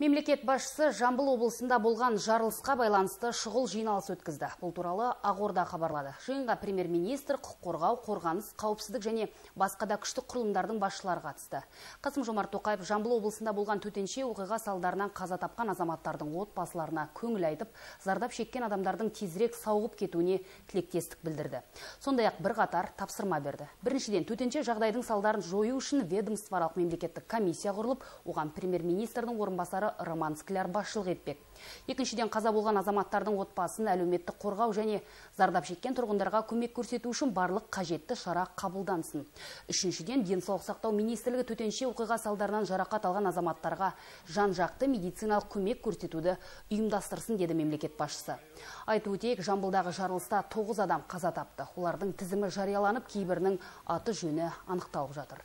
Мемлекет басшысы Жамбыл облысында болған жарылысқа байланысты шұғыл жиналыс өткізді. Бұл туралы Ақорда хабарлады. Жиынға премьер-министр, құқық қорғау, қорғаныс, қауіпсіздік және басқа да күштік құрылымдардың басшылары қатысты. Қасым-Жомарт Тоқаев Жамбыл облысында болған төтенше оқиға салдарынан қаза тапқан азаматтардың отбасыларына көңіл айтып, зардап шеккен адамдардың тезірек сауығып кетуіне тілектестік білдірді. Сондай-ақ бірқатар тапсырма берді. Біріншіден, төтенше жағдайдың салдарын жою үшін ведомствоаралық мемлекеттік комиссия құрылып, оған премьер-министрдің орынбасары Роман Скляр басшылық етпек. Екіншіден, қаза болған азаматтардың отбасын әлеуметтік қорғау және зардап шеккен тұрғындарға көмек көрсету үшін барлық қажетті шара қабылдансын. Үшіншіден, денсаулық сақтау министрлігі төтенше оқиға салдарынан жарақат алған азаматтарға жан-жақты медициналық көмек көрсетуді ұйымдастырсын, деді мемлекет басшысы. Айтып өтейік, Жамбылдағы жарылыста 9 адам қаза тапты. Олардың тізімі жарияланып, кейбірінің аты жөні анықталып жатыр.